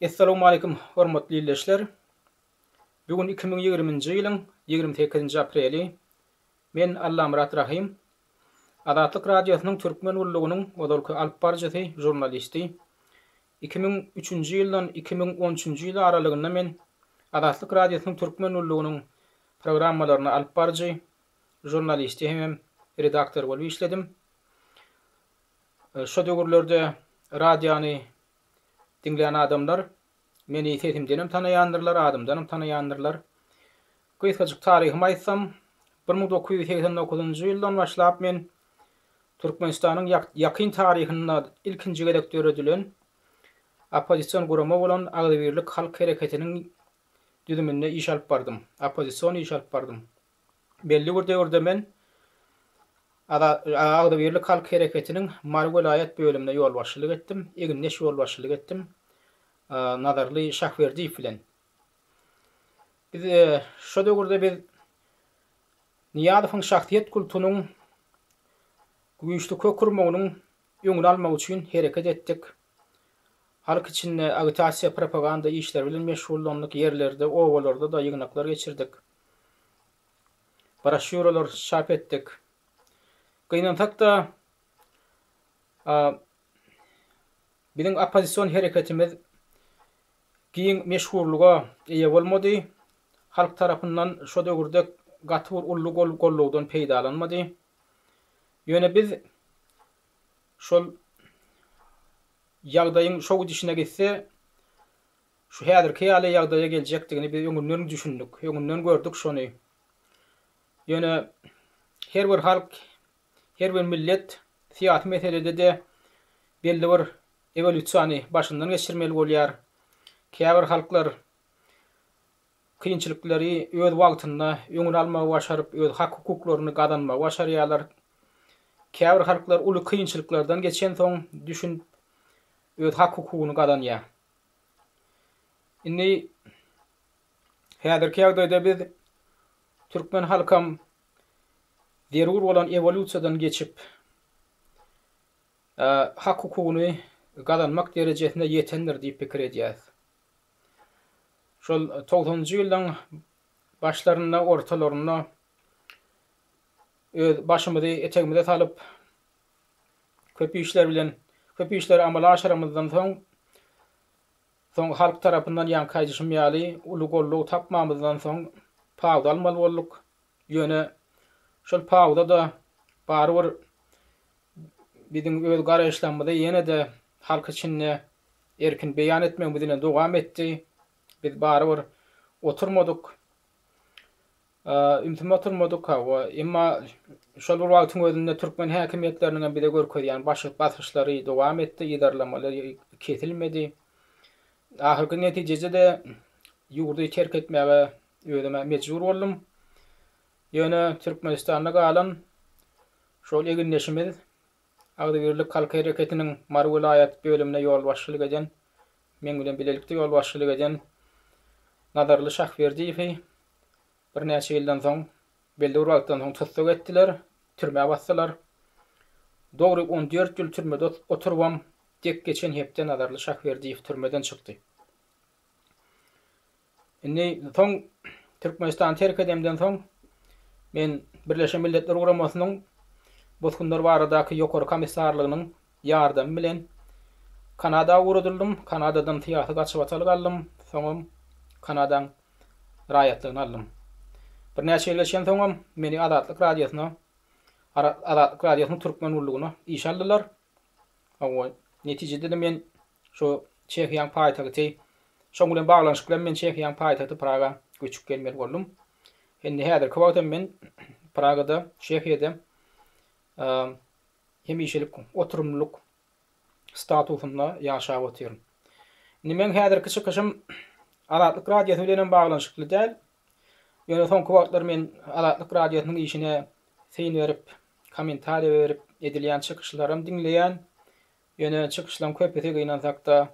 Essalawmaleýkum hormatly ildeşler! Bu gün 2020-nji ýylyň 28-nji apreli. Men Allamyrat Rahym. Azatlyk Radiosynyň Türkmen gullugynyň ozalky alyp baryjysy, žurnalisti. 2003-nji ýyldan 2013-nji ýyl aralygynda men Azatlyk Radiosynyň Türkmen gullugynyň programmalaryny alyp baryjy, žurnalisti hemem redaktor bolup işledim. Şo döwürlerde radiony diňlän adamlar meni sesimdenem tanaýandyrlar, adymdanam tanaýandyrlar. Gysgajyk taryhymy aýtsam, 1989-njy ýyldan başlap men Türkmenistanyň ýakyn taryhynda ilkinji gezek döredilen oppozision gurama bolan Agzybirlik halk hereketiniň düzüminde iş alyp bardym, oppozision iş alyp bardym. Belli bir döwürde men Agzybirlik halk hereketiniň Mary welaýat bölümine ýolbaşçylyk etdim, egindeş ýolbaşçylyk etdim Nazarly Şahberdiýew bilen. Biz şo döwürde biz Nyýazowyň şahsyýet kultunyň güýçli kök urmagynyň öňüni almak üçin hereket etdik. Halk içinde agitasiýa-propaganda işleri bilen meşgullandyk, ýerlerde, obalarda-da ýygnaklar geçirdik. Broşýuralar çap etdik. Gynansak-da, biziň oppozision hereketimiz giň meşhurlyga eýe bolmady. Halk tarapyndan şo döwürde gaty bir uly gollawdan peýdalanmady. Ýöne biz şol ýagdaýyň şo gidişine gitse, şu häzirki ýaly ýagdaýa geljekdigini biz öňünden düşündik, öňünden gördük şony. Ýöne her bir halk, her bir millet syýasy meselede-de belli bir ewolýusiýany başyndan geçirmeli bolýar. Käbir halklar kynçylyklary öz wagtynda öňüni almagy başaryp, öz hak-hukuklaryny gazanmagy başarýarlar. Käbir halklar uly kynçylyklardan geçensoň düşünip, öz hak-hukugyny gazanýar. Indi häzirki ýagdaýda biz türkmen halkam zerur bolan ewolýusiýadan geçip, hak-hukugyny gazanmak derejesine ýetendir diýip pikir edýäris. Şol togsanynjy ýyllaň başlarynda, ortalarynda öz başymyzy etegimize salyp, köp işler bilen, köp işleri amala aşyramyzdan soň, soň halk tarapyndan ýaňky aýdyşym ýaly uly goldaw tapmamyzdan soň pauza almaly bolduk. Ýöne şol pauza-da barybir biziň öz garaýyşlarymyzy ýene-de halk içinde erkin beýan etmegimiz bilen dowam etdi. Biz barybir oturmadyk. Ümsüm oturmadyk, hawa. Emma şol bir wagtyň özünde türkmen häkimiýetleriniň hem bize görkezýän basyşlary dowam etdi, yzarlamalary kesilmedi. Ahyrky netijede-de ýurdy terk etmäge özüm-ä mejbur boldum. Ýöne Türkmenistanda galan şol egindeşimiz, Agzybirlik halk hereketiniň Mary welaýat bölümine ýolbaşçylyk eden, meň bilen bilelikde ýolbaşçylyk eden Nazarly Şahberdiýewi birnäçe ýyldan soň, belli bir wagtdan soň tussag etdiler, türmä basdylar. Dogry on dört ýyl türmede oturybam, dek geçen hepde Nazarly Şahberdiýew türmeden çykdy. Indi soň Türkmenistany terk edemden soň men Birleşen Milletler Guramasynyň Bosgunlar baradaky Ýokary komissarlygynyň ýardamy bilen Kanada ugradyldym. Kanadadan syýasy gaçybatalga aldym. Soňam Kanadaň raýatlygyny aldym. Birnäçe ýyl geçensoňam meni Azatlyk Radiosyna, Azatlyk Radiosynyň Türkmen gullugyna işe aldylar. Hawa, netijede-de men Şu Çehiýaň paýtagty, şoň bilen baglanyşykly hem men Çehiýaň paýtagty Praga göçüp gelmeli boldum. Indi häzirki wagt hem men Pragada, Çehiýada hemişelik oturymlylyk statusynda ýaşap otyryn. Indi meň häzirki çykyşym Azatlyk Radiosy bilen hem baglanyşykly däl. Ýöne soňky wagtlar men Azatlyk Radiosynyň işine syn berip, kommentariýa berip edilýän çykyşlaram diňleýän. Ýöne çykyşlaň köpüsi gynansakda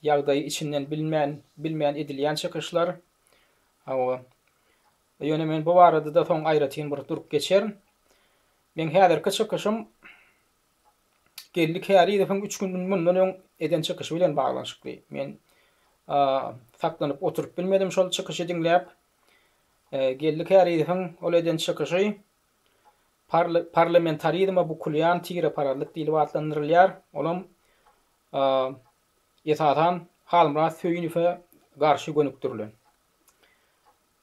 ýagdaýy içinden bilmän bilmän edilýän çykyşlar. Hawa. Ýöne men bu barada-da soň aýratyn bir durup geçerin. Meň häzirki çykyşym Geldi Kärizowyň üç gün mundan öň eden çykyşy bilen baglanyşykly. Men. Saklanyp oturyp bilmedim şol çykyşy diňläp. Geldi Kärizowyň ol eden çykyşy parlamentarizme bukulýan tireparazlyk diýlip atlandyrylýar. Olam esasan Halmyrat Söýünowa garşy gönükdirilen.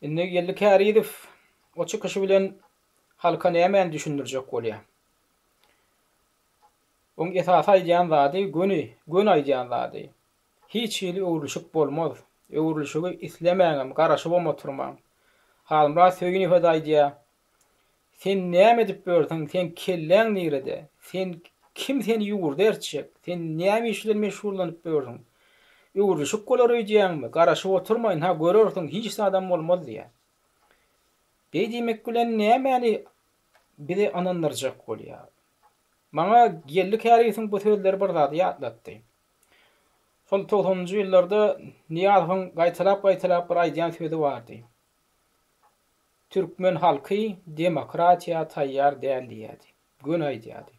Indi Geldi Kärizow o çykyşy bilen halka nämäni düşündirjek bolýar? Oň esasy aýdýan zady göni, göni aýdýan zady. Hiç hili öwrülişik bolmaz. Öwrülişigi islemäňem, garaşybam oturmaň. Halmyrat Söýünowa-da aýdýar, Sen näme edip ýörsüň, seň kelläň nirede? Sen kim seni ýurda ertjek? Sen näme iş bilen meşgullanyp ýörsüň? Öwrülişik bolar öýdýäňmi? Garaşyp oturma, ynha görersiň, hiç zadam bolmaz diýýär. Beý diýmek bilen nämäni bizi ynandyrjak bolýar? Maňa Geldi Käriýewiň bu sözleri bir zady ýatlatdy. Şol togsanynjy ýyllarda Nyýazowyň gaýtalap-gaýtalap bir aýdýan sözi bardy. Türkmen halky demokratiýa taýýar däl diýýärdi. Göni aýdýardy.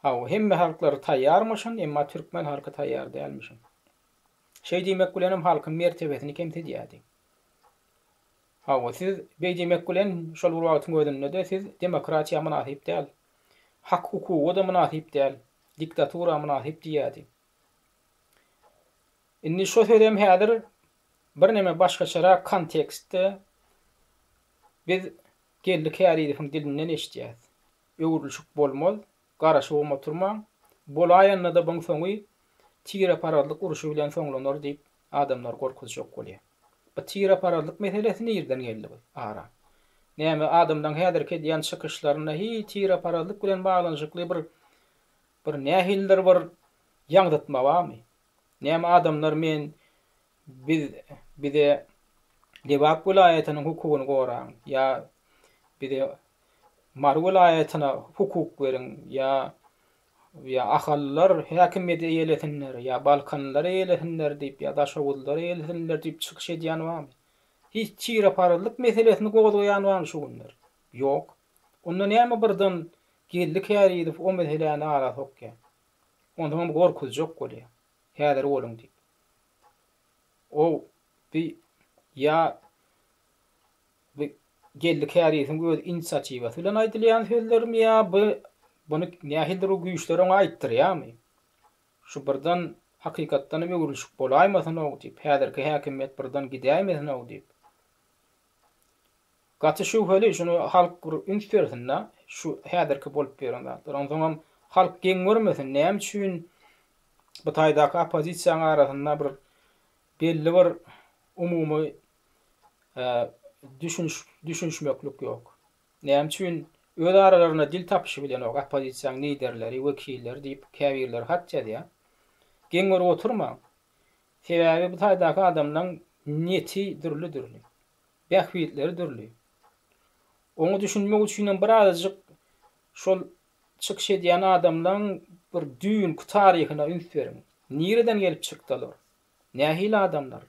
Hawa, hemme halklar taýýarmyşyn, emma türkmen halky taýýar dälmişin. Şeý diýmek bilenem halkyň mertebesini kemsidýärdi. Hawa, siz beý diýmek bilen şol bir wagtyň özünde-de siz demokratiýa mynasyp däl. Hak-hukuga-da mynasyp däl, diktatura mynasyp diýýärdi. Indi şo sözem häzir Birneme başgaçarak kontekstde biz Geldi Kärizowyň dilinden eşidýäs. Öwrülişik bolmaz, garaşybam oturmaň, bolaýanda-da buň soňy tireparazlyk urşy bilen soňlanar diýip adamlary gorkuzjak bolýar. Bu tireparazlyk meselesi nirden geldi bu ara? Näme adamlaň häzirki edýän çykyşlarynda hiý tireparazlyk bilen baglanyşykly bir bir nähilidir bir ýaňzytma barmy? Näme adamlar men Biz bize Lebap welaýatynyň hukugyny goraň ýa bize Mary welaýatyna hukuk beriň ýa ýa Ahallylar häkimiýeti eýelesinler ýa Balkanlylar eýelesinler diýip ýa Daşoguzlylar eýelesinler diýip çykyş edýän barmy? Hiç tireparazlyk meselesini gozgaýan barmy şu günler? Ýok. Onda näme birden Geldi Kärizow o meseläni ara sokýar? Onsoňam gorkuzjak bolýar. Häzir boluň diýip. O bi ýa bi Geldi Käriýewiň öz inisiatiwasy bilen aýdylýan sözlermi ýa bu buny nähilidir bir güýçler oňa aýtdyrýarmy? Şu birden hakykatdanam öwrülişik bolaýmasyn-ow diýip, häzirki häkimiýet birden gidäýmesin-ow diýip. Gaty şübheli, şuny halk bir üns bersin-dä, şu häzirki bolup ýören zatlar. Onsoňam halk geň görmesin, näme üçin bu taýdaky oppozisiýanyň arasynda bir belli bir umumy düşüniş düşünişmeklik ýok. Näme üçin öz aralarynda dil tapyşybilenok oppozisiýanyň liderleri, wekilleri diýip käbirleri hat ýazýar. Geň görüp oturmaň. Sebäbi bu taýdaky adamlaň neti dürli-dürli. Bähbitleri dürli. Oňa düşünmek üçinem birazajyk şol çykyş edýän adamlaň bir düýnki taryhyna üns beriň. Nireden gelip çykdy olar? Nähili adamlar?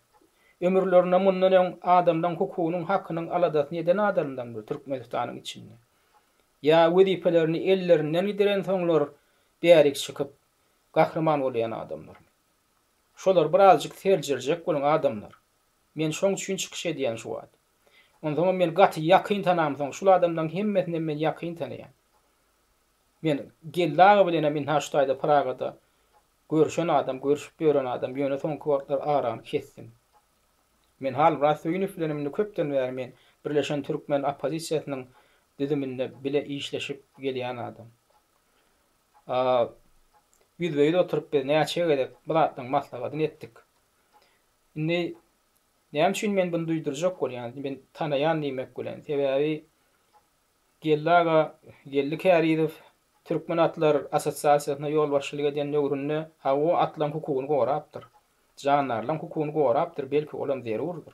Ömürlerinde mundan öň adamlaň hukugynyň, hakynyň aladasyny eden adamlarmy Türkmenistanyň içinde? Ýa wezipelerini ellerinden giderensoňlar bärik çykyp gahryman bolýan adamlarmy? Şolary birazjyk seljerjek boluň adamlar. Men şoň üçin çykyş edýän şu wagt. Onsoňam men gaty ýakyn tanamsoň şul adamlaň hemmesinem men ýakyn tanaýan. Men Geldi aga bilenem ynha şu taýda Pragada görüşen adam, görüşip ýören adam, ýöne soňky wagtlar arany kesdim. Men Halmyrat Söýünow bilenem indi köpden bäri men Birleşen Türkmen oppozisiýasynyň düzüminde bile işleşip gelýän adam. Ýüzbe-ýüz oturyp biz näçe gezek bu zatlaryň maslahatyny etdik. Indi näme üçin men buny duýdurjak bolýan, men tanaýan diýmek bilen, sebäbi Geldi aga, Geldi Kärizow Türkmen atlar assosiasiýasyna ýolbaşçylyk eden döwründe hawa atlaryň hukugyny gorapdyr. Jandarlaryň hukugyny gorapdyr, belki olam zerurdyr.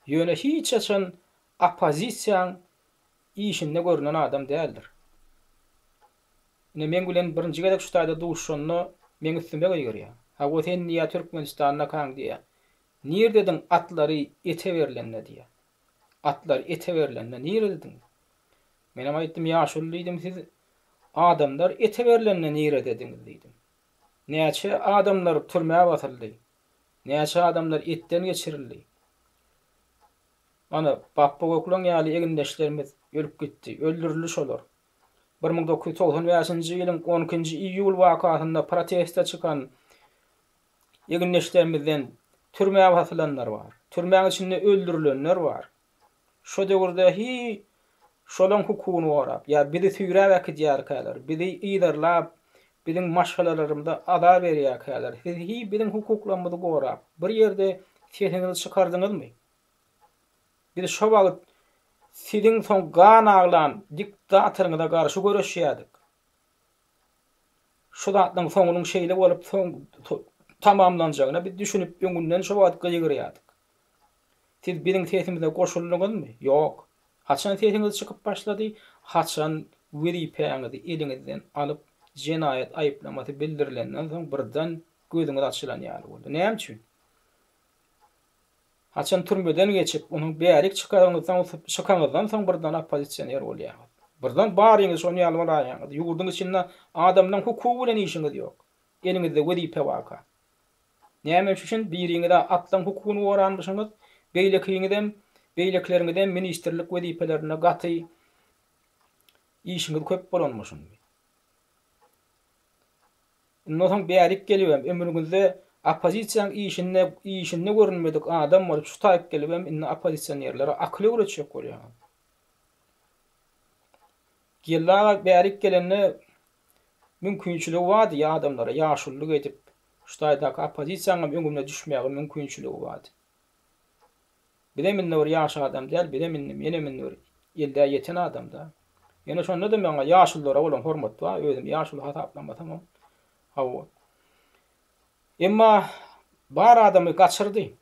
Ýöne hiç haçan oppozisiýaň işinde görünen adam däldir. Ine meň bilen birinji gezek şu taýda duşanda meň üstüme gygyrýar. Hawa sen diýýär Türkmenistandakaň diýýär. Nirdediň atlary ete berlende diýýär. Atlar ete berlende niredediň? Menem aýtdym ýaşuly diýdim siz adamlar ete berlende niredediňiz diýdim. Näçe adamlar türmä basyldy. Näçe adamlar etden geçirildi. Ana, Bapba Gökleň ýaly egindeşlerimiz ölüp gitdi. Öldürildi şolar. 1995-nji ýylyň on ikinji iýul wakasynda proteste çykan egindeşlerimizden türmä basylanlar bar. Türmäň içinde öldürilenler bar. Şo döwürde hi şolaň hukugyny gorap, ýa bizi süýräp äkidýärkäler, bizi yzarlap, biziň maşgalalarymyza azar berýärkäler, siz hi biziň hukuklarymyzy gorap, bir ýerde sesiňizi çykardyňyzmy? Biz şo wagt siziň soň gan aglan diktatoryňyza garşy göreşýärdik. Şu zatlaryň soňunyň şeýle bolup soň tamamlanjagyna biz düşünip öňünden şo wagt gygyrýardyk. Siz biziň sesimize goşuldyňyzmy? Ýok. Haçan sesiňiz çykyp başlady? Haçan wezipäňizi eliňizden alyp, jenaýat aýyplamasy bildirilenden soň birden gözüňiz açylan ýaly boldy. Näme üçin? Haçan türmeden geçip, onuň bärik çykaryňyzdan çykaňyzdan soň birden oppozisioner bolýaňyz. Birden baryňyz şon ýaly bolaýaňyz. Ýurduň içinde adamlaň hukugy bilen işiňiz ýok. Eliňizde wezipe barka. Näme üçin biriňiz-ä atlaň hukugyny goranmyşyňyz, beýlekiňizem, beýlekileriňizem ministrlik wezipelerinde gaty işiňiz köp bolanmyşyn. Ondan soň bärik gelibem, ömrüňizde oppozisiýaň işinde işinde görünmedik adam bolup şu taýyk gelibem indi oppozisionerlere akyl öwretjek bolýaňyz. Geldi aga bärik gelende mümkinçiligi bardy ýa adamlara ýaşululyk edip şu taýdaky oppozisiýaňam öňüne düşmäge mümkinçiligi bardy. Bizem indi bir ýaş adam däl, bizem indi menem indi bir elde ýeten adam-da. Ýöne şonda-da maňa ýaşululara bolan hormat bar, özümi ýaşuly hasaplamasamam. Hawa. Emma bar adamy gaçyrdy.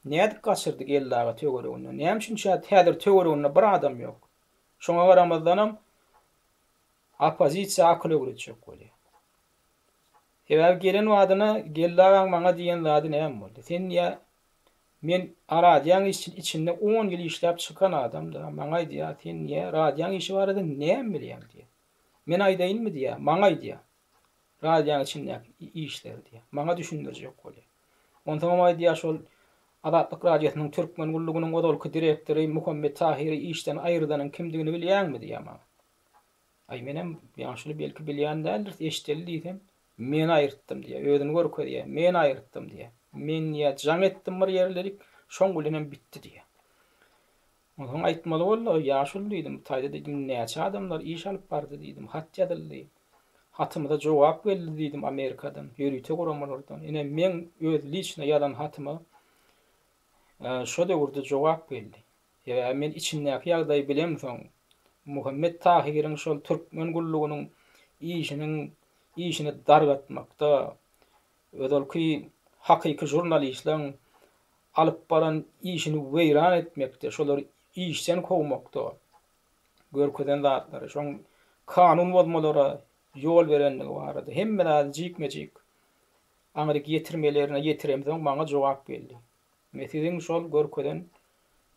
Nädip gaçyrdy Geldi aga töwereginden? Näme üçin häzir töwereginde bir adam ýok? Şoňa garamazdanam oppozisiýa akyl öwretjek bolýar. Sebäbi gelen badyna Geldi agaň maňa diýen zady näme boldy? Sen diýýär, men radiýaň içinde on ýyl işläp çykan adam-da, maňa aýdýar, sen diýýär, radiýaň işi barada näme bilýäň diýýär. Men aýdaýynmy diýýär, maňa aýdýar. Radiýaň içindäki işleri diýýär. Maňa düşündirjek bolýar. Onsoňam aýdýar, şol Azatlyk Radiosynyň Türkmen gullugynyň ozalky direktory Muhammet Tahyry işden aýyrdanyň kimdigini bilýäňmi diýýär maňa. Aý menem ýaşuly belki bilýän däldiris, eşideli diýsem, men aýyrtdym diýýär, özüni görkezýär, men aýyrtdym diýýär. Men diýýär, jaň etdim bir ýerlerik, şoň bilenem bitdi diýýär. Onsoň aýtmaly boldy, ýaşuly diýdim, bu taýda diýdim, näçe adamlar iş alyp bardy diýdim, hat ýazyldy. Hatymyza jogap geldi diýdim Amerikadan, ýörite guramalardan. Ine meň öz liçno ýazan hatyma şo döwürde jogap geldi. Sebäbi men içindäki ýagdaýy bilemsoň, Muhammet Tahyryň şol türkmen gullugynyň işiniň işini dargatmakda, ozalky hakyky žurnalistleň alyp baran işini weýran etmekde, şolary işden kowmakda görkezen zatlary, şoň kanun bozmalara ýol berenligi barada hemme zady jikme-jik aňryk ýetirmelerine ýetiremsoň maňa jogap geldi. We siziň şol görkezen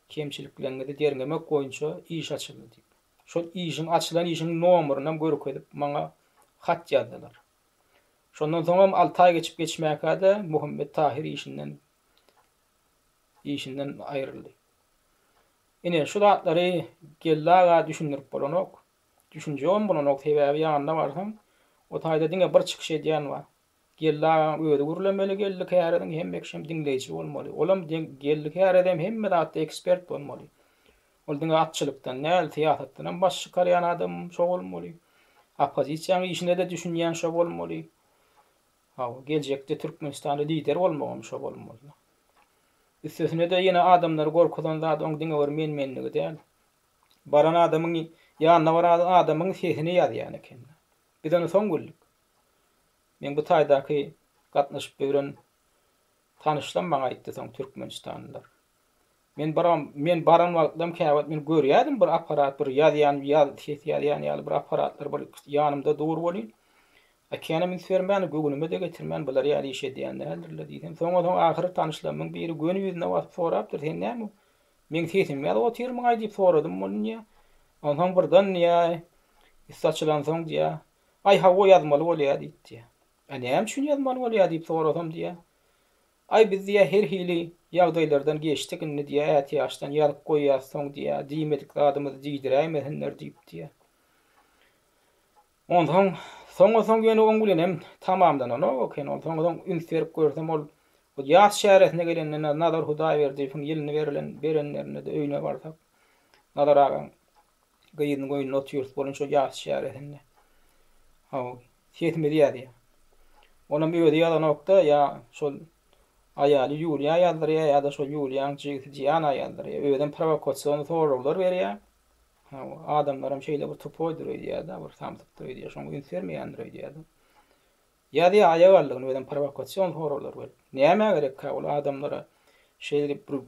kemçilikleriňizi derňemek boýunça iş açyldy diýip. Şol işiň açylan işiň nomerynam görkezip maňa hat ýazdylar. Şondan soňam alty aý geçip geçmäkä-de Muhammet Tahyr işinden işinden aýryldy. Ine, şu zatlary Geldi aga düşündirip bolanok. Düşünjegem bolanok, sebäbi ýanyna barsaň, o taýda diňe bir çykyş edýän bar. Geldi agaň özi gürlemeli Geldi Käriziň hemme kişem diňleýji bolmaly. Olam Geldi Kärizem hemme zatda ekspert bolmaly. Ol diňe atçylykdan däl, syýasatdanam baş çykarýan adam şo bolmaly. Oppozisiýaň işine-de düşünýän şo bolmaly. Hawa, geljekde Türkmenistanda lider bolmagam şo bolmaly. Üstesine-de ýene adamlary gorkuzan zat oň diňe bir men-menligi däl. Baran adamyň ýanyna baran adamyň sesini ýazýan eken. Biz ony soň bildik. Meň bu taýdaky gatnaşyp ýören tanyşlam maňa aýtdy soň türkmenistanlylar. Men bir men baran wagtlam käwagt men görýärdim bir apparat bir ýazýan ýaz ses ýazýan ýaly bir apparatlar bir ýanymda dur welin a känem üns bermän göwnüme-de getirmän bular ýaly iş edýän däldirler diýsem soňa soň ahyry tanyşlarymyň biri göni ýüzüne basyp sorapdyr sen näme meň sesimi ýazyp otyrmyňaý diýip soradym welin diýýär. Onsoň birden diýýär üsti açylansoň diýýär Aý hawa ýazmaly bolýa diýipdi. A näme üçin ýazmaly bolýa diýip sorasam diýýä. Aý biz diýýär her hili ýagdaýlardan geçdik indi diýýär ätiýaçdan ýazyp goýýas soň diýýär diýmedik zadymyzy diýdiräýmesinler diýip diýýär. Onsoň soňa soň ýöne oň bilenem tamamlananok eken ol soňa soň üns berip görsem ol ýas çäresine gelende Nazar Hudaýberdiýewiň ýylyny berlen berenlerinde-de öýüne barsak Nazar agaň gyzynyň öýünde otyrys bolun şo ýas çäresinde. Hawa, sesimizi ýazýar. Onam özi ýazanok-da, ýa şol aýaly Ýuliýa ýazdyrýar, ýa-da şol Ýuliýaň jigisi Diana ýazdyrýar. Özem prowokasion soraglar berýär. Hawa, adamlaram şeýle bir tupoýdyr öýdýär-de, bir samsykdyr öýdýär, şoňa üns bermeýändir öýdýär-de. Ýazýar aýak aldygyny özem prowokasion soraglar berip. Nämä gerekkä ol adamlara şeýdip bir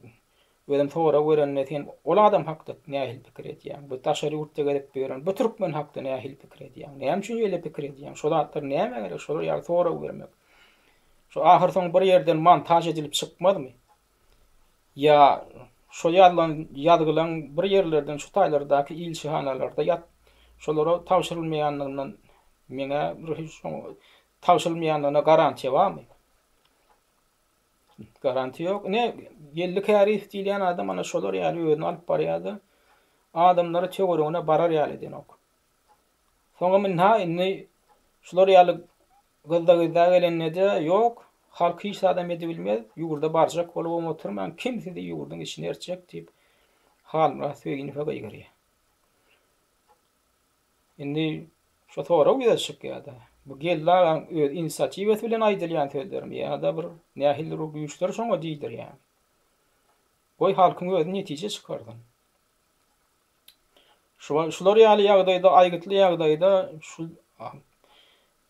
özem sorag berende sen ol adam hakda nähili pikir edýäň? Bu daşary ýurtda gezip ýören bu türkmen hakda nähili pikir edýäň? Näme üçin beýle pikir edýäň? Şo zatlar nämä gerek şolar ýaly sorag bermek? Şo ahyrsoňy bir ýerden montaž edilip çykmazmy? Ýa şo ýazylan ýazgylaň bir ýerlerden şu taýlardaky ilçihanalarda ýat şolara tabşyrylmaýandygyndan meňä bir hiç şoňa tabşyrylmaýandygyna garantiýa barmy? Garantiýa ýok. Ine Geldi Käriýew diýilýän adam ana şolar ýaly özüni alyp barýar-da, adamlary töweregine barar ýaly edenok. Soňam ynha indi şular ýaly gyzda-gyzda gelende-de ýok, halk hiç zadam edibilmez, ýurda barjak bolubam oturmaň, kim sizi ýurduň içine ertjek diýip, Halmyrat Söýünowa gygyrýar. Indi şu sorag ýüze çykýar-da, bu Geldi agaň öz inisiatiwasy bilen aýdylýan sözlermi ýa-da bir nähilidir bir güýçler şoňa diýdirýärmi? Goý halkyň özi netije çykarsyn. Şular ýaly ýagdaýda, aýgytly ýagdaýda şu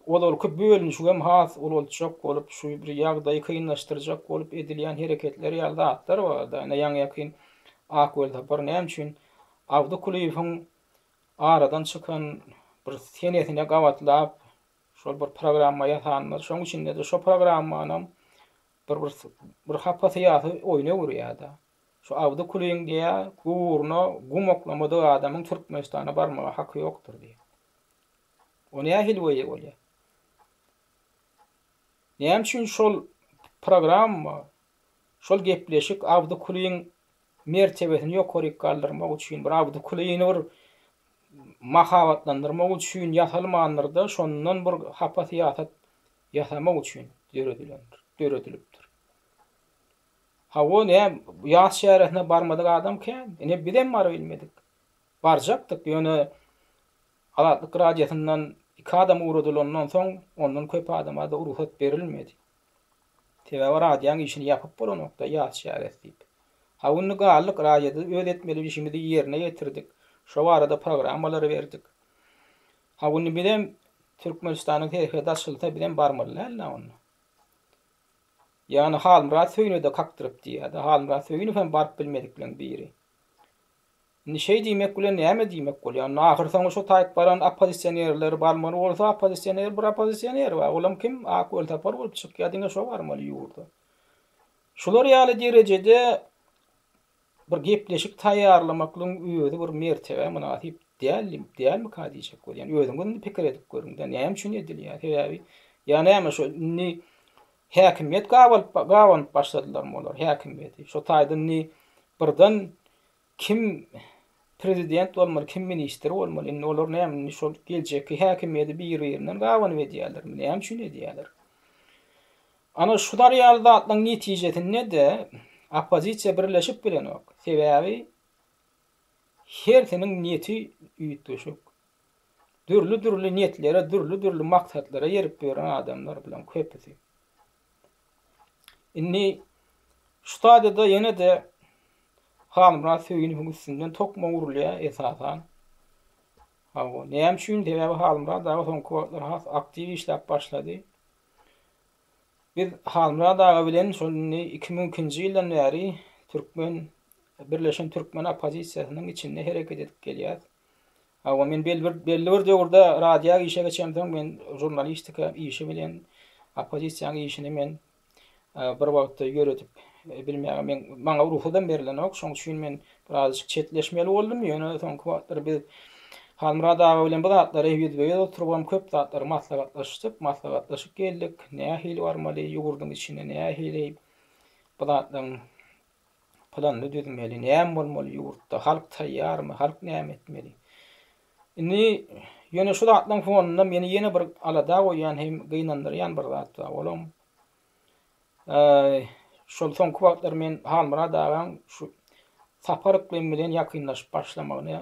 ozalky bölünişigem has ulaltjak bolup, şu bir ýagdaýy kynlaşdyrjak bolup edilýän hereketler ýaly zatlar bar-da. Ine, ýaňy-ýakyn Ak Welsapar näme üçin Abdy Kulyýewiň aradan çykan bir senesine gabatlap, şol bir programma ýasanlar. Şoň içinde-de şo programmanam bir bir hapa syýasy oýna öwürýär-de. Şu Abdy Kulyň diýýä, guburyna gum oklamadyk adamyň Türkmenistana barmaga haky ýokdur diýýä. O nähili weýe bolýa? Näme üçin şol programma, şol gepleşik Abdy Kulyň mertebesini ýokaryk galdyrmak üçin, bir Abdy Kulyny bir mahabatlandyrmak üçin ýasalmandyr-da, şondan bir hapa syýasat ýasamak üçin döredilendir, döredilipdir. Hawa, nä, ýas çäresine barmadyk adam kän. Ine, bizem barybilmedik. Barjakdyk, ýöne Azatlyk Radiosyndan iki adam ugradylandan soň, ondan köp adama-da rugsat berilmedi. Sebäbi radiýaň işini ýapyp bolanok-da, ýas çäresi diýip. Hawa, indi galdyk, radioda öz etmeli işimizi ýerine ýetirdik. Şo barada programmalary berdik. Hawa, indi bizem Türkmenistanyň serhedi açylsa, bizem barmaly däl-dä onda. Ýagny Halmyrat Söýüne-de kakdyryp diýýär-de. Halmyrat Söýünow hem baryp bilmedikleriň biri. Indi şeý diýmek bilen näme diýmek bolýar? Indi ahyrsoňy şo taýyp baran oppozisionerler barmaly bolsa, oppozisioner bir oppozisioner bar. Olam kim? Ak Welsapar bolup çykýar, diňe şo barmaly ýurda. Şular ýaly derejede Bir gepleşik taýýarlamaklygyň özi bir mertebä mynasyp däl, dälmika diýjek bolýan. Özüňiz indi pikir edip görüň-dä, näme üçin edilýär? Sebäbi ýa näme şo indi häkimiýet gabalyp gabanyp başladylarmy olar häkimiýeti? Şo taýda indi birden kim prezident bolmaly, kim ministr bolmaly? Indi olar näme indi şol geljekki häkimiýeti bir-birinden gabanyp edýärlermi? Näme üçin edýärler? Ana şular ýaly zatlaryň netijesinde-de oppozisiýa birleşip bilenok. Sebäbi hersiniň niýeti üýtgeşik. Dürli-dürli niýetlere, dürli-dürli maksatlara ýerip ýören adamlar bularyň köpüsi. Indi şu taýda-da ýene-de Halmyrat Söýünowyň üstünden tokmak urulýar esasan. Hawa, näme üçin? Sebäbi Halmyrat aga soňky wagtlar has aktiw işläp başlady. Biz Halmyrat aga bilen şol indi 2002-nji ýyldan bäri türkmen Birleşen türkmen oppozisiýasynyň içinde hereket edip gelýäs. Hawa, men belli bir belli bir döwürde radio işe geçemsoň men žurnalistika işi bilen oppozisiýanyň işini men bir wagtda ýöredip bilmäge men maňa rugsadam berlenok. Şonuň üçin men birazajyk çetleşmeli boldum. Ýöne soňky wagtlar biz Halmyrat aga bilen bu zatlary ýüzbe-ýüz oturybam köp zatlary maslahatlaşdyk, maslahatlaşyp geldik. Nähili barmaly, ýurduň içine nähili. Bu zatlaryň planyny düzmeli, näme bolmaly ýurtda, halk taýýarmy, halk näme etmeli? Indi ýöne şu zatlaryň fonunda meni ýene bir alada goýýan hem gynandyrýan bir zat bar. Olam şol soňky wagtlar men Halmyrat agaň şu Sapar Yklym bilen ýakynlaşyp başlamagyny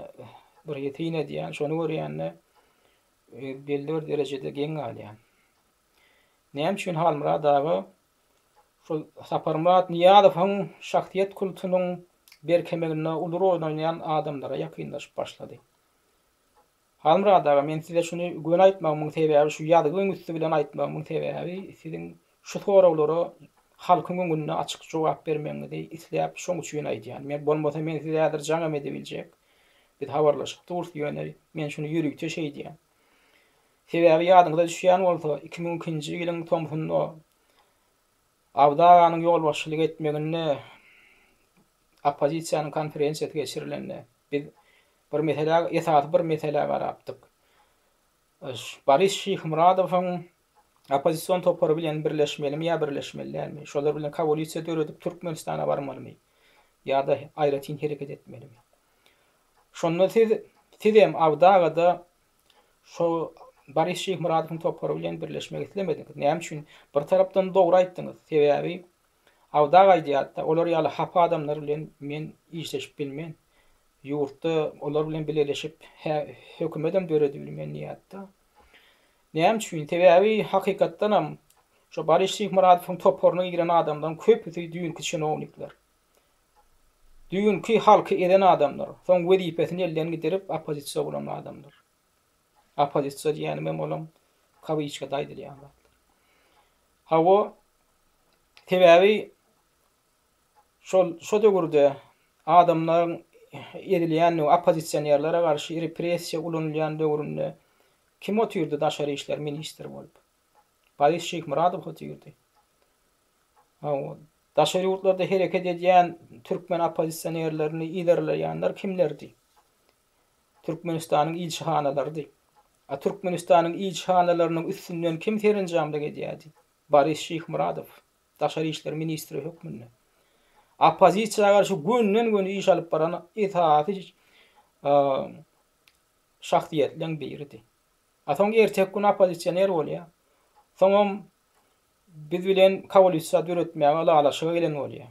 bir syn edýän, şony görýände belli bir derejede geň galýan. Näme üçin Halmyrat aga şol Saparmyrat Nyýazowyň şahsyýet kultunyň berkemeginde uly rol oýnaýan adamlara ýakynlaşyp başlady. Halmyrat aga, men size şuny göni aýtmagymyň sebäbi, şu ýazgyň üsti bilen aýtmagymyň sebäbi siziň şu soraglara halkyň öňünde açyk jogap bermegiňizi isläp şoň üçin aýdýan. Men bolmasa men size häzir jaňam edebiljek. Biz habarlaşyp durus, ýöne men şuny ýörite şeýdýän. Sebäbi ýadyňyza düşýän bolsa, 2002-nji ýylyň tomsunda Abdy aganyň ýolbaşçylyk etmeginde oppozisiýanyň konferensiýasy geçirilende, biz bir meselä, esasy bir meselä garapdyk. Boris Şyhmyradowyň oppozision topary bilen birleşmelimi ýa birleşmeli dälmi? Şolar bilen koalisiýa döredip Türkmenistana barmalymy? Ýa-da aýratyn hereket etmelimi? Şonda siz, sizem Abdy aga-da Şo Boris Şyhmyradowyň topary bilen birleşmek islemediňiz. Näme üçin? Bir tarapdan dogry aýtdyňyz. Sebäbi Awdag aýdýardy-da, olar ýaly hapa adamlar bilen men işleşip bilmen. Ýurtda olar bilen bileleşip hökümetem döredibilmen diýýärdi-de. Näme üçin? Sebäbi hakykatdanam şo Boris Şyhmyradowyň toparyna giren adamlaryň köpüsi düýnki çinownikler. Düýnki halky ezen adamlar, soň wezipesini elden gidirip oppozisiýa bolan adamlar. Oppozisiýa diýýänimem olam kawyçkada aýdylýan zatlar. Hawa, sebäbi şol şo döwürde adamlaryň ezilýändigi, oppozisionerlere garşy repressiýa ulanylýan döwründe kim otyrdy daşary işler ministri bolup? Boris Şyhmyradow otyrdy. Hawa, daşary ýurtlarda hereket edýän türkmen oppozisionerlerini yzarlaýanlar kimlerdi? Türkmenistanyň ilçihanalarydy. A Türkmenistanyň ilçihanalarynyň üstünden kim serenjamlyk edýärdi? Boris Şyhmyradow, daşary işler ministri hökmünde. Oppozisiýa garşy gönden-göni iş alyp baran esasy şahsyýetleň biridi. A soň erteki gün oppozisioner bolýar. Soňam biz bilen koalisiýa döretmäge ylalaşyga gelen bolýar.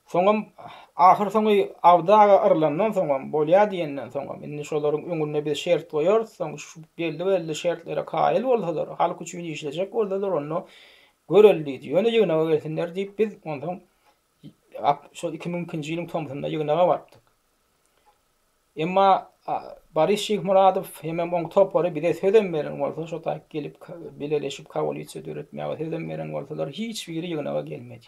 Soňam ahyr soňy Abdy aga yrylandan soňam, bolýar diýenden soňam, indi şolaryň öňünde biz şert goýarys, soň şu belli-belli şertlere kaýyl bolsalar, halk üçin işlejek bolsalar, onda göreli diýdi. Ýöne ýygnaga gelsinler diýip, biz onsoň şol 2002-nji ýylyň tomsunda ýygnaga barypdyk. Emma Boris Şyhmyradow hemem oň topary bize sözem beren bolsa, şo taýyk gelip bileleşip koalisiýa döretmäge sözem beren bolsalar, hiç biri ýygnaga gelmedi.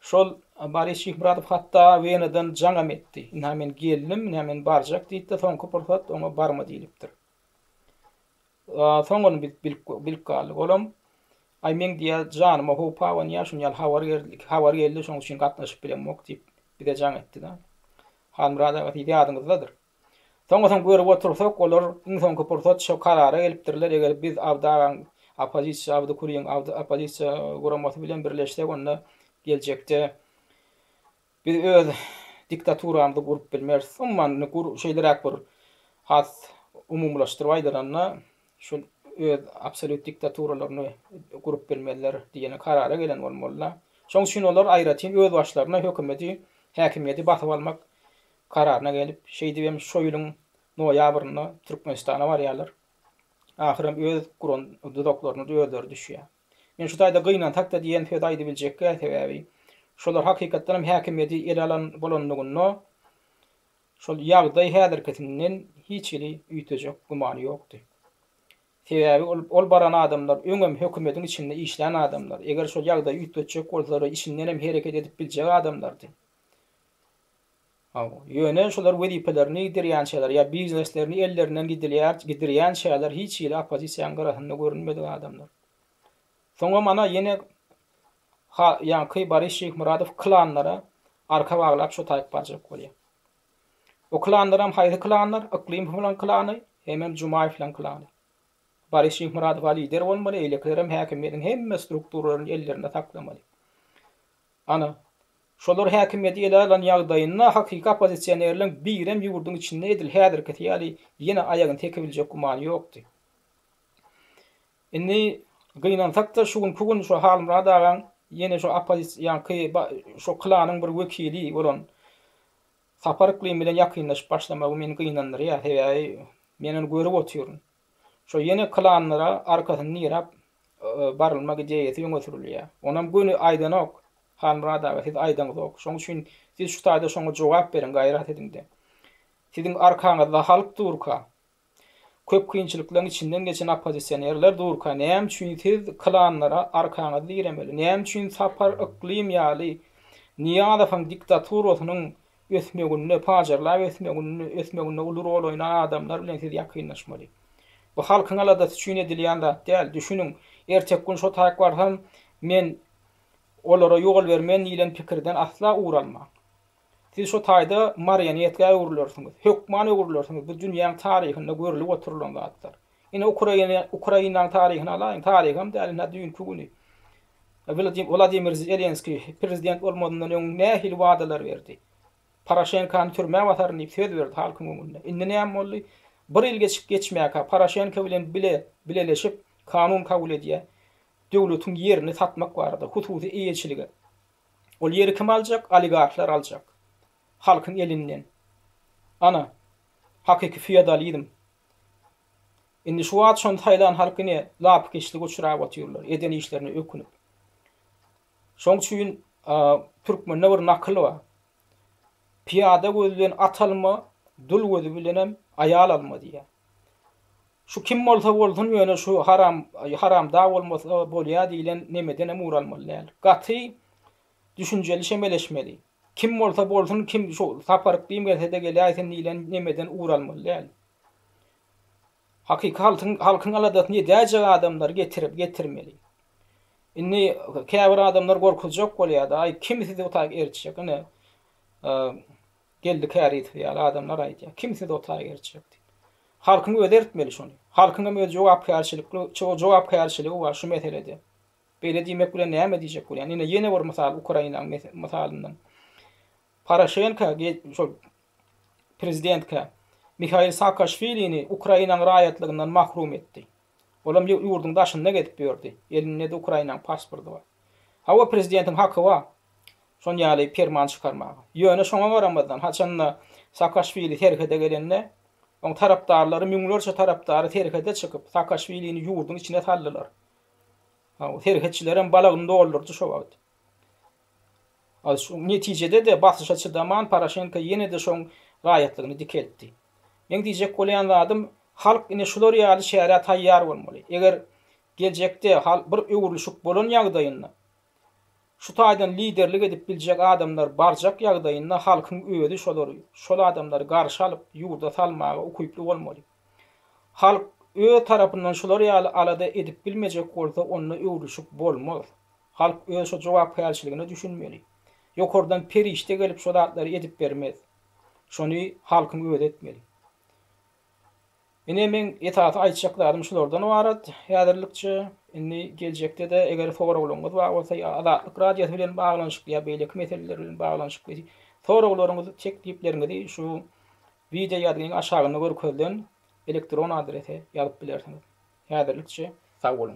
Şol Boris Şyhmyradow hatda Wenadan jaňam etdi. Ynha men geldim, ynha men barjak diýdi-de, soňky pursat oňa barma diýlipdir. Soň ony biz bilip, bilip galdyk. Olam, Aý, meň diýýär, janyma howp abanýar, şuny ýaly habar geldi, habar geldi, şonuň üçin gatnaşyp bilemok diýip, bize jaň etdi-de. Halmyrat aga, siz ýadyňyzdadyr. Soňa-soň görüp otursak, olar iň soňky pursat şo karara gelipdirler, eger biz Abdy agaň oppozisiýa, Abdy Kulyň Abdy oppozisiýa guramasy bilen birleşsek, onda geljekde Biz öz diktaturamyzy gurup bilmeris. Umuman, indi gur şeýleräk bir has umumylaşdyryp aýdylanda, şol öz absolýut diktaturalaryny gurup bilmezler diýen karara gelen bolmaly-da. Şonuň üçin olar aýratyn özbaşlaryna hökümeti, häkimiýeti basyp almak kararyna gelip, şeýdibem şo ýylyň noýabrynda Türkmenistana barýarlar. Ahyram öz guran duzaklaryna özleri düşýär. Men şu taýda gynansak-da diýen sözi aýdybiljekgä, sebäbi şolar hakykatdanam häkimiýeti ele alan bolanlygynda şol ýagdaý häzirkisinden hiç hili üýtgejek gümany ýokdy. Sebäbi ol ol baran adamlar öňem hökümediň içinde işlän adamlar, eger şol ýagdaýy üýtgetjek bolsalar içindenem hereket edip biljek adamlardy. Hawa, ýöne şolar wezipelerini gidirýänçäler ýa bizneslerini ellerinden gidilýär, gidirýänçäler hiç hili oppozisiýanyň gyrasynda görünmedik adamlar. Soňam ana ýene ha ýaňky Boris Şyhmyradow klanlara arka baglap şo taýyp barjak bolýar. O klanlaram haýsy klanlar? Yklymowyň klany hemem Jumaýewlaň klany. Boris Şyhmyradow-a lider bolmaly, eýlekilerem häkimiýetiň hemme strukturalaryny ellerinde saklamaly. Ana, şolar häkimiýeti ele alan ýagdaýynda hakyky oppozisionerleň birem ýurduň içinde edil häzirkisi ýaly ýene aýagyny sekibiljek gümany ýokdy. Indi gynansak-da şu günki gün şu Halmyrat agaň ýene şu oppozisiýa ýaňky şo klanyň bir wekili bolan Sapar Yklym bilen ýakynlaşyp başlamagy meni gynandyrýar. Sebäbi men ony görüp otyryn. Şo ýene klanlara arkasyny diräp barylmak ideýasy öňe sürülýär. Onam göni aýdanok Halmyrat aga siz aýdaňyzok. Şoň üçin siz şu taýda şoňa jogap beriň gaýrat ediňde. Siziň arkaňyzda halk durka Köp kynçylyklaryň içinden geçen oppozisionerler durka näme üçin siz klanlara arkaňyzy diremeli? Näme üçin Sapar Yklym ýaly Nyýazowyň diktaturasynyň ösmeginde, pajarlap ösmeginde, ösmeginde uly rol oýnan adamlar bilen siz ýakynlaşmaly? Bu halkyň aladasy üçin edilýän zat däl. Düşüniň, erteki gün şo taýyk barsam, men olara ýol bermen diýlen pikirden asla ugur almaň. Siz şo taýda marionetka öwrülersiňiz. Hökman öwrülersiňiz. Bu dünýäň taryhynda görlüp oturylan zatlar. Ine Ukraina, Ukrainanyň taryhyny alaýyň. Taryham däl, ine düýnki güni. Wladimir Zelenskiý prezident bolmazyndan öň nähili wadalar berdi? Poroşenkany türmä basaryn diýip söz berdi halkyň öňünde. Indi näme boldy? Bir ýyl geçip geçmäkä Poroşenko bilen bile bileleşip kanun kabul edýär. Döwletiň ýerini satmak barada, hususy eýeçilige. Ol ýeri kim aljak? Oligarhlar aljak. Halkyň elinden. Ana, hakyky feodalizm. Indi şu wagt şony saýlan halk ine lapykeçlige uçrap otyrlar, eden işlerine ökünip. Şoň üçin türkmende bir nakyl bar. Pyýada gözi bilen at alma, dul gözi bilenem aýal alma diýýär. Şu kim bolsa bolsun ýöne şu haram haramdag bolmasa bolýa diýlen nemedenem ugur almaly däl. Gaty düşünjeli çemeleşmeli. Kim bolsa bolsun kim şu Sapar Yklym gelsede geläýsin diýlen nemeden ugur almaly däl. Hakyky halkyň halkyň aladasyny edäýjek adamlary getirip getirmeli. Indi käbir adamlar gorkuzjak bolýada aý kim sizi o taýyk eritjek ine Geldi Kärizow ýaly adamlar aýdýar. Kim sizi o taýa eritjek diýip. Halkyň özi eritmeli şony. Halkyň hem öz jogapkärçilikli jogapkärçiligi bar şu meselede. Beýle diýmek bilen näme diýjek bolýan? Ine ýene bir mysal Ukrainanyň mysalyndan. Poroşenko şol prezidentkä Mihail Saakaşwilini Ukrainanyň raýatlygyndan mahrum etdi. Olam ýurduň daşynda gezip ýördi. Elinde-de Ukrainanyň pasporty bar. Hawa prezidentiň haky bar. Şon ýaly perman çykarmaga. Ýöne şoňa garamazdan, haçanda Saakaşwili serhede gelende, oň tarapdarlary, müňlerçe tarapdary serhede çykyp, Saakaşwilini ýurduň içine saldylar. Hawa, serhetçilerem balagyny doldurdy şo wagt. Netijede-de basyşa çydaman Poroşenko ýene-de şoň raýatlygyny dikeltdi. Meň diýjek bolýan zadym, halk ine şular ýaly çärä taýýar bolmaly. Eger geljekde bir öwrülişik bolan ýagdaýynda, Şu taýdan liderlik edip biljek adamlar barjak ýagdaýynda halkyň özi şolary, şol adamlary garşy alyp ýurda salmaga ukyply bolmaly. Halk öz tarapyndan şular ýaly alada edip bilmejek bolsa onda öwrülişik bolmaz. Halk öz şo jogapkärçiligine düşünmeli. Ýokardan perişde gelip şo zatlary edip bermez. Şony halkyň özi etmeli. Ine meň esasy aýtjak zadym şulardan ybarat häzirlikçe. Indi geljekde-de eger soraglaryňyz bar bolsa ýa Azatlyk Radiosy bilen baglanyşykly ýa beýleki meseleler bilen baglanyşykly soraglaryňyzy, teklipleriňizi şu wideo ýazgynyň aşagynda görkezilen elektron adrese ýazyp bilersiňiz. Häzirlikçe sag boluň.